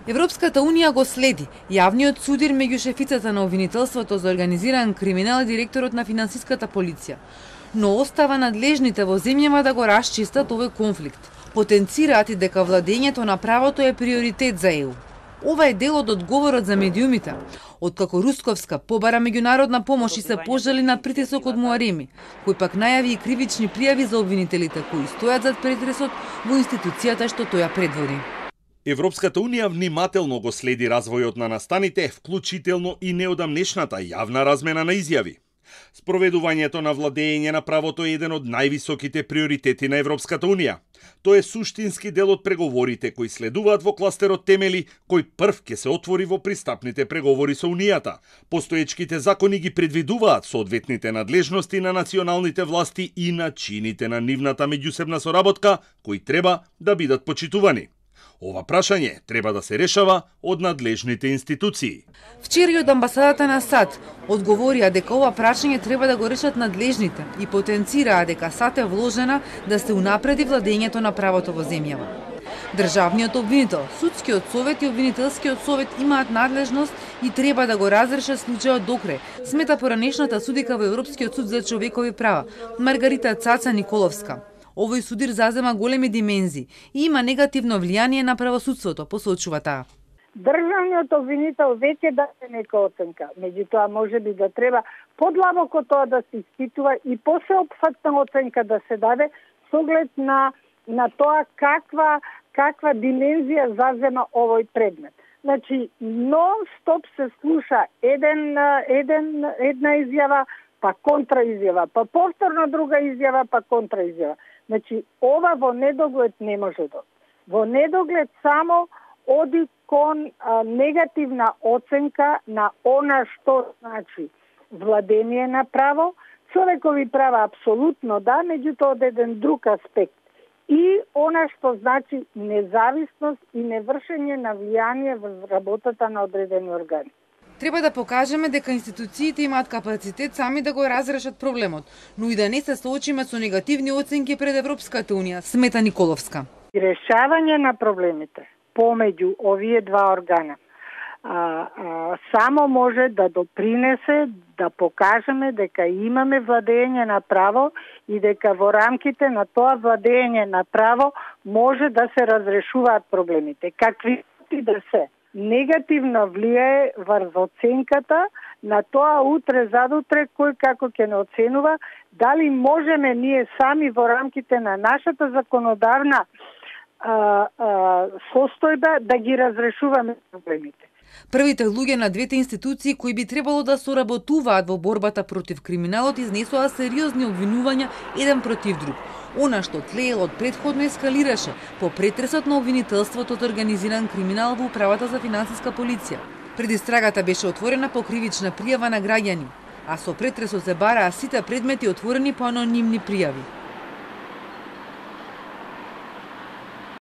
Европската унија го следи. Јавниот судир меѓу шефицата на обвинителството за организиран криминал и директорот на финансиската полиција. Но остава надлежните во земјава да го расчистат овој конфликт. Потенцираат и дека владењето на правото е приоритет за ЕУ. Ова е дел од одговорот за медиумите. Откако Русковска побара меѓународна помош и се пожали на притисок од Муареми, кој пак најави и кривични пријави за обвинителите кои стојат зад претресот во институцијата што тоја предводи. Европската унија внимателно го следи развојот на настаните, вклучително и неодамнешната јавна размена на изјави. Спроведувањето на владење на правото е еден од највисоките приоритети на Европската унија. Тој е суштински дел од преговорите кои следуваат во кластерот темели, кој прв ќе се отвори во пристапните преговори со Унијата. Постоечките закони ги предвидуваат соодветните надлежности на националните власти и начините на нивната меѓусебна соработка, кои треба да бидат почитувани. Ова прашање треба да се решава од надлежните институции. Вчера од амбасадата на САД одговорија дека ова прашање треба да го решат надлежните и потенцираа дека САД е вложена да се унапреди владењето на правото во земјава. Државниот обвинител, судскиот совет и обвинителскиот совет имаат надлежност и треба да го разрешат случајот до крај, смета поранешната судика во Европскиот суд за човекови права, Маргарита Цаца Николовска. Овој судир зазема големи димензии и има негативно влијание на правосудството, посочува таа. Државниот обвинител веќе даде нека оценка, меѓутоа можеби да треба подлабоко тоа да се испитува и посеопфатна оценка да се даде со оглед на тоа каква димензија зазема овој предмет. Значи, нон-стоп се слуша една изјава, па контраизјава, па повторно друга изјава, па контраизјава. Значи, ова во недоглед не може да. Во недоглед само оди кон негативна оценка на она што значи владење на право, човекови права апсолутно да, меѓутоа од еден друг аспект. И она што значи независност и невршење на влијание во работата на одредени органи. Треба да покажеме дека институциите имаат капацитет сами да го разрешат проблемот, но и да не се соочиме со негативни оценки пред Европската унија, смета Николовска. Решавање на проблемите помеѓу овие два органа само може да допринесе да покажеме дека имаме владење на право и дека во рамките на тоа владење на право може да се разрешуваат проблемите, какви да се. Негативно влијае врз оценката на тоа утре задутре кој како ќе не оценува, дали можеме ние сами во рамките на нашата законодавна состојба да ги разрешуваме проблемите. Првите луѓе на двете институции кои би требало да соработуваат во борбата против криминалот изнесоа сериозни обвинувања еден против друг. Она што тлеелот предходно ескалираше по претресот на обвинителството од организиран криминал во управата за финансиска полиција. Предистрагата беше отворена по кривична пријава на граѓани, а со претресот се бараа сите предмети отворени по анонимни пријави.